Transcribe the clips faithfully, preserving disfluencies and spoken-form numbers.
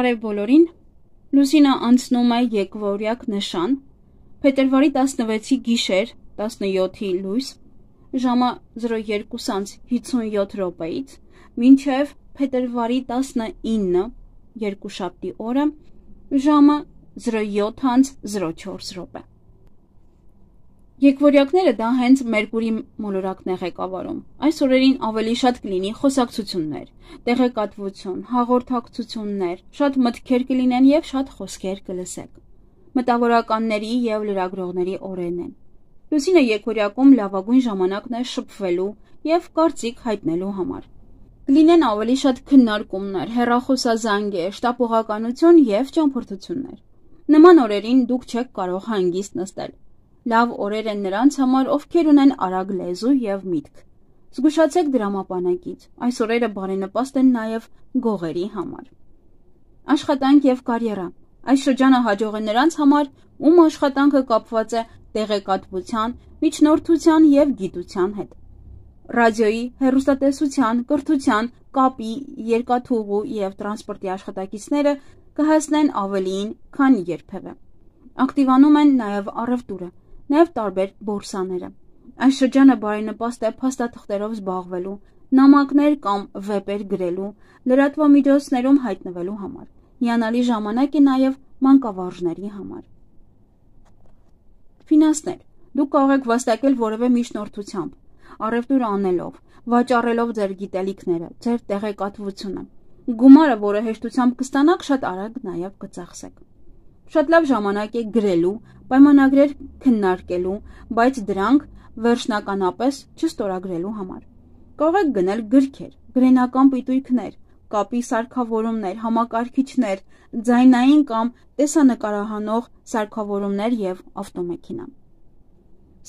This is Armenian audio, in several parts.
Բարև բոլորին, Լուսինը անցնում է եկվորյակ նշան, փետրվարի տասնվեցի գիշեր, տասնյոթի լույս, ժամը զրո երկու հինգսունյոթ րոպեից, մինչև փետրվարի տասնինը, երկուշաբթի օրը, ժամը զրո յոթ զրո չորս րոպե։ Եկվորյակները դա հենց Մերկուրի մոլորակն է ղեկավարում։ Այս օրերին ավելի շատ կլինի խոսակցություններ, տեղեկատվություն, հաղորդակցություններ, շատ մտքեր կլինեն եւ շատ խոսքեր կլսեք։ Մտավորականների եւ լրագրողների օրերն են։ Լուսինը եկվորյակում լավագույն ժամանակն է շփվելու եւ կարծիք հայտնելու համար։ Կլինեն ավելի շատ քննարկումներ, հեռախոսազանգեր, շտապողականություն եւ ճամփորդություններ։ Նման օրերին դուք չեք կարող հանգիստ նստել։ Լավ օրեր են նրանց համար, ովքեր ունեն արագ լեզու եւ միտք։ Զգուշացեք դրամապանակից։ Այս օրերը բարենպաստ են նաեւ գողերի համար։ Աշխատանք եւ կարիերա։ Այս շրջանը հաջող է նրանց համար, ում աշխատանքը կապված է տեղեկատվության, միջնորդության եւ գիտության հետ։ Ռադիոյի, հեռուստատեսության, կրթության, կապի, երկաթուղու եւ տրանսպորտի աշխատակիցները կհասնեն ավելիին, քան երբևէ։ Ակտիվանում են նաեւ առևտուրը, նաեւ տարբեր բորսաները։ Այս շրջանը բարենպաստ է փաստաթղթերով զբաղվելու, նամակներ կամ վեպեր գրելու, լրատվամիջոցներում հայտնվելու համար։ Հիանալի ժամանակ է նաեւ մանկավարժների համար։ Ֆինանսներ։ Դուք կարող եք վաստակել որևէ միջնորդությամբ, առևտուր անելով, վաճառելով ձեր գիտելիքները, ձեր տեղեկատվությունը։ Գումարը, որը հեշտությամբ կստանաք, շատ արագ նաեւ կծախսեք։ Շատ լավ ժամանակ է գրելու, պայմանագրեր քննարկելու, բայց դրանք վերջնականապես չստորագրելու համար։ Կարող եք գնել գրքեր, գրենական պիտույքներ, կապի սարքավորումներ, համակարգիչներ, ձայնային կամ տեսանկարահանող սարքավորումներ եւ ավտոմեքենա։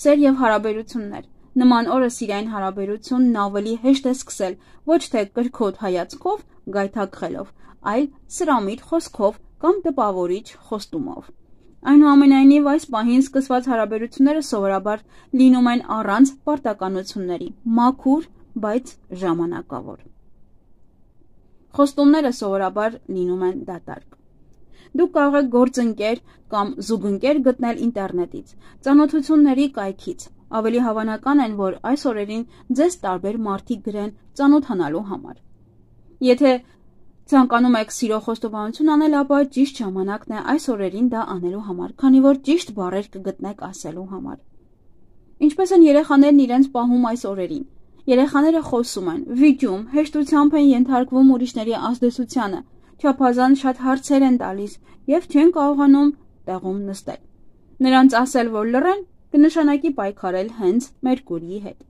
Սեր եւ հարաբերություններ։ Նման օրը սիրային հարաբերությունն ավելի հեշտ է սկսել, ոչ թե կրքոտ հայացքով, գայթակղելով, այլ սրամիտ խոսքով կամ տպավորիչ խոստումով։ Այնուամենայնիվ, այս պահին սկսված հարաբերությունները սովորաբար լինում են առանց պարտականությունների, մաքուր, բայց ժամանակավոր։ Խոստումները սովորաբար լինում են դատարկ։ Դուք կարող եք գործընկեր կամ զուգընկեր գտնել ինտերնետից, ծանոթությունների կայքից։ Ավելի հավանական են, որ այս օրերին ձեզ տարբեր մարդիկ գրեն ծանոթանալու համար։ Եթե ցանկանում եք սիրո խոստովանություն անել, ապա ճիշտ ժամանակն է այս օրերին դա անելու համար, քանի որ ճիշտ բառեր կգտնեք ասելու համար։ Ինչպես են երեխաներն իրենց պահում այս օրերին։ Երեխաները խոսում են, վիճում, հեշտությամբ են ենթարկվում ուրիշների ազդեցությանը, չափազանց շատ հարցեր են տալիս եւ չեն կարողանում տեղում նստել։ Նրանց ասել, որ լռեն, կնշանակի պայքարել հենց Մերկուրիի հետ։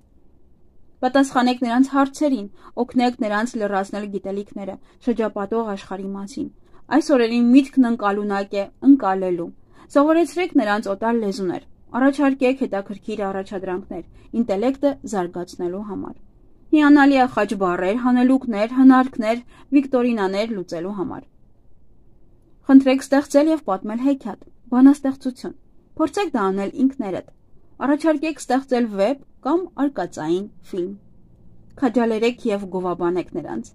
Պատասխանեք նրանց հարցերին, օգնեք նրանց լրացնել գիտելիքները, շրջապատող աշխարհի մասին։ Այս օրերին միտքն ընկալունակ է ընկալելու։ Սովորեցրեք նրանց օտար լեզուներ, առաջարկեք հետաքրքիր առաջադրանքներ, ինտելեկտը զարգացնելու համար։ Հիանալի է խաչ բառեր, հանելուկներ, հնարքներ, վիկտորինաներ լուծելու համար։ Խնդրեք ստեղծել եւ պատմել հեքիաթ, բանաստեղծություն։ Փորձեք դա անել ինքներդ։ Առաջարկեք ստեղծել վեպ կամ արկածային ֆիլմ։ Քաջալերեք եւ գովաբանեք նրանց։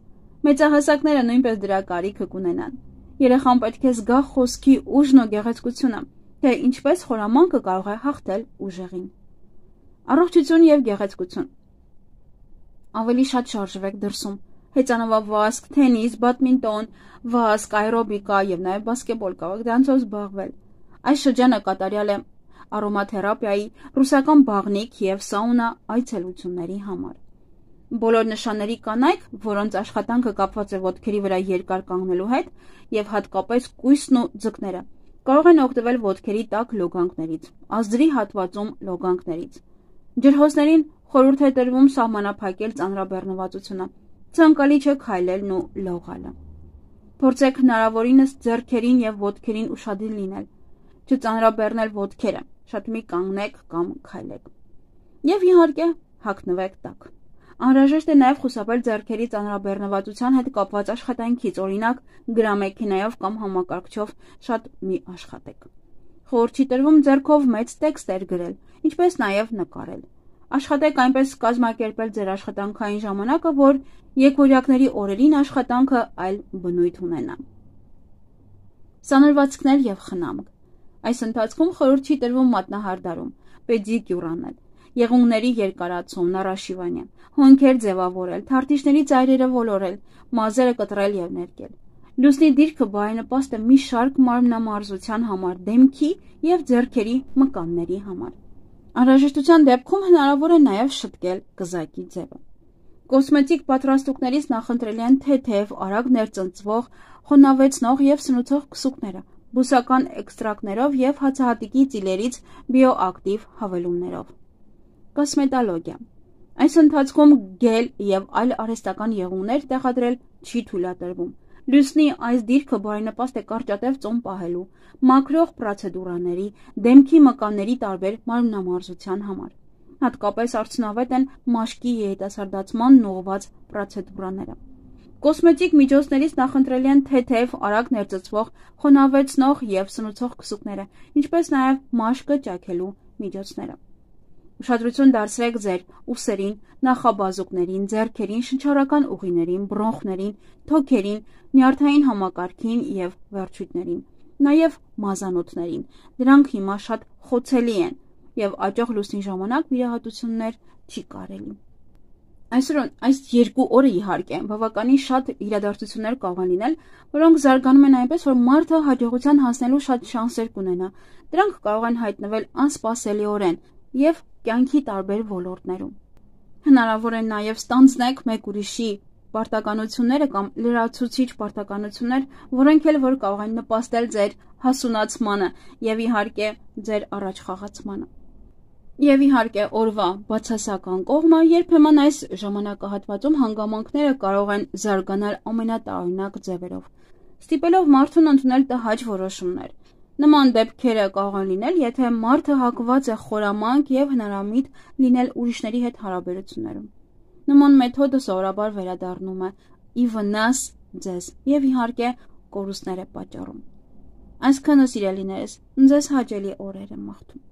Մեծահասակները նույնպես դրա կարիքը կունենան։ Երեխան պետք է զգա խոսքի ուժն ու գեղեցկությունը, թե ինչպես խորամանկը կարող է հաղթել ուժեղին։ Առողջություն եւ գեղեցկություն։ Ավելի շատ շարժվեք դրսում։ Հեծանվավազք, թենիս, բադմինտոն, վազք, աերոբիկա եւ նաեւ բասկետբոլ կարող եք դրանցով զբաղվել։ Այս շրջանը կատարյալ է արոմաթերապիայի, ռուսական բաղնիք եւ սաունա այցելությունների համար։ Բոլոր նշանների կանայք, որոնց աշխատանքը կապված է ոտքերի վրա երկար կանգնելու հետ եւ հատկապես կույսն ու ձկները, կարող են օգտվել ոտքերի տաք լոգանքներից, ազդրի հատվածում լոգանքներից։ Ջրհոսներին խորհուրդ է տրվում սահմանափակել ծանրաբեռնվածությունը, ցանկալի չէ քայլելն ու լողալը։ Փորձեք հնարավորինս ձեռքերին եւ ոտքերին ուշադիր լինել, չծանրաբեռնել ոտքերը, շատ մի կանգնեք կամ քայլեք։ Եվ իհարկե հագնվեք տաք։ Անհրաժեշտ է նաև խուսափել ձեռքերի ծանրաբեռնվածության հետ կապված աշխատանքից, օրինակ գրամեքենայով կամ համակարգչով շատ մի աշխատեք։ Խորհուրդ չի տրվում ձեռքով մեծ տեքստեր գրել, ինչպես նաև նկարել։ Աշխատեք այնպես կազմակերպել ձեր աշխատանքային ժամանակը, որ եկվորյակների օրերին աշխատանքը այլ բնույթ ունենա։ սանրվածքներ եւ խնամք։ Այս ընթացքում խորհուրդ չի տրվում մատնահարդարում, պեդիկյուր անել, եղունգների երկարացում, նարաշիվանյա, հոնքեր ձևավորել, թարթիչների ծայրերը ոլորել, մազերը կտրել եւ ներկել։ Լուսնի դիրքը բարենպաստ է մի շարք մարմնամարզության համար, դեմքի եւ ձեռքերի մկանների համար։ Անհրաժեշտության դեպքում հնարավոր է նաեւ շտկել կզակի ձևը։ Կոսմետիկ պատրաստուկներից նախընտրելի են թեթև, արագ ներծնծվող, խոնավեցնող եւ սնուցող քսուկները, բուսական էքստրակտներով եւ հացահատիկի ծիլերից բիոակտիվ հավելումներով։ Կոսմետոլոգիա։ Այս ընթացքում գել եւ այլ արհեստական եղունգներ տեղադրել չի թույլատրվում։ Լուսնի այս դիրքը բարենպաստ է կարճատև ծոմ պահելու, մաքրող պրոցեդուրաների, դեմքի մկանների տարբեր մարմնամարզության համար։ Հատկապես արդյունավետ են մաշկի երիտասարդացման ուղղված պրոցեդուրաները։ Կոսմետիկ միջոցներից նախընտրելի են թեթև, արագ ներծծվող, խոնավեցնող եւ սնուցող քսուկները, ինչպես նաեւ մաշկը ճաքելու միջոցները։ Ուշադրություն դարձրեք ձեր ուսերին, նախաբազուկներին, ձեռքերին, շնչառական ուղիներին, բրոնխներին, թոքերին, նյարդային համակարգին եւ վերջույթներին, նաեւ մազանոթներին։ Դրանք հիմա շատ խոցելի են եւ աճող լուսնի ժամանակ վիրահատություններ չի կարելի։ Այսօր այս երկու օրը իհարկե բավականին շատ իրադարձություններ կարող են լինել, որոնք զարգանում են այնպես, որ մարդը հաջողության հասնելու շատ շանսեր կունենա։ Դրանք կարող են հայտնվել անսպասելիորեն եւ կյանքի տարբեր ոլորտներում։ Հնարավոր է նաև ստանձնեք մեկ ուրիշի պարտականությունները կամ լրացուցիչ պարտականություններ, որոնք էլ որ կարող են նպաստել ձեր հասունացմանը եւ իհարկե ձեր առաջխաղացմանը։ Եվ իհարկե օրվա բացասական կողմը երբեմն այս ժամանակահատվածում հանգամանքները կարող են զարգանալ ամենատարօրինակ ձևերով, ստիպելով մարդուն ընդունել տհաճ որոշումներ։ Նման դեպքերը կարող են լինել, եթե մարդը հակված է խորամանկ եւ հնարամիտ լինել ուրիշների հետ հարաբերություններում։ Նման մեթոդը սովորաբար վերադառնում է ի վնաս ձեզ եւ իհարկե կորուստներ է պատճառում։ Այսքանը սիրելիներս, ձեզ հաճելի օրեր եմ մաղթում։